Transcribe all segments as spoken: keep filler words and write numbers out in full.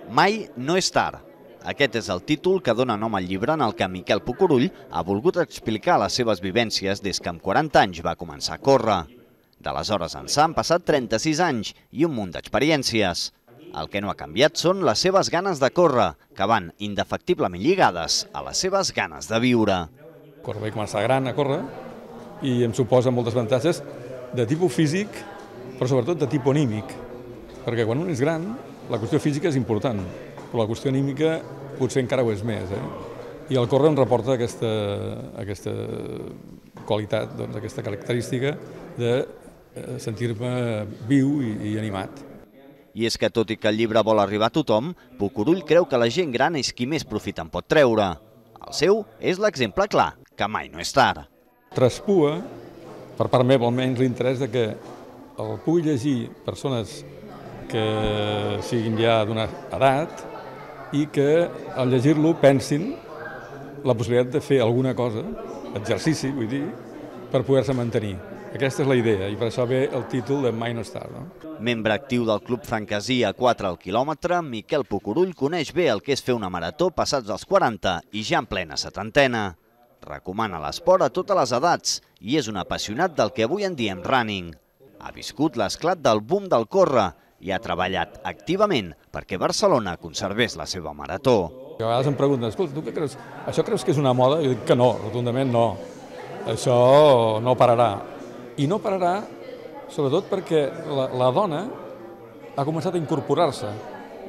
Mai no és tard. Aquest és el títol que dona nom al llibre en el que Miquel Pucurull ha volgut explicar les seves vivències des que amb quaranta anys va començar a córrer. D'aleshores ençà han passat trenta-sis anys i un munt d'experiències. El que no ha canviat són les seves ganes de córrer, que van indefectiblement lligades a les seves ganes de viure. Córrer, vaig començar gran a córrer i em suposa moltes avantatges de tipus físic, però sobretot de tipus anímic. Perquè quan un és gran, la qüestió física és important, però la qüestió anímica potser encara ho és més. Eh? I el córrer em reporta aquesta, aquesta qualitat, doncs, aquesta característica de sentir-me viu i, i animat. I és que, tot i que el llibre vol arribar a tothom, Pucurull creu que la gent gran és qui més profit en pot treure. El seu és l'exemple clar, que mai no és tard. Traspua, per part meva almenys, l'interès de que el pugui llegir persones que siguin ja d'una edat i que al llegir-lo pensin la possibilitat de fer alguna cosa, exercici, vull dir, per poder-se mantenir. Aquesta és la idea i per això ve el títol de Mai no és tard. No? Membre actiu del Club Francasí a quatre al quilòmetre, Miquel Pucurull coneix bé el que és fer una marató passats els quaranta i ja en plena setantena. Recomana l'esport a totes les edats i és un apassionat del que avui en diem running. Ha viscut l'esclat del boom del córrer i ha treballat activament perquè Barcelona conservés la seva marató. A vegades em pregunten, escolta, tu què creus? Això creus que és una moda? Jo dic que no, rotundament no. Això no pararà. I no pararà, sobretot perquè la, la dona ha començat a incorporar-se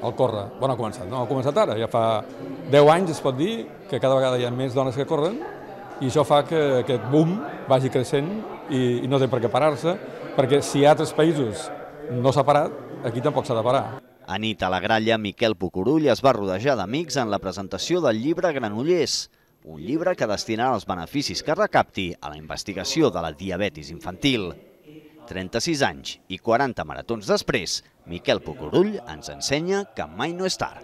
al córrer. Bueno, ha començat, no? Ha començat ara. Ja fa deu anys, es pot dir, que cada vegada hi ha més dones que corren i això fa que aquest boom vagi creixent i, i no té per què parar-se, perquè si a altres països no s'ha parat, aquí tampoc s'ha de parar. A nit a la gralla, Miquel Pucurull es va rodejar d'amics en la presentació del llibre Granollers, un llibre que destinarà els beneficis que recapti a la investigació de la diabetis infantil. trenta-sis anys i quaranta maratons després, Miquel Pucurull ens ensenya que mai no és tard.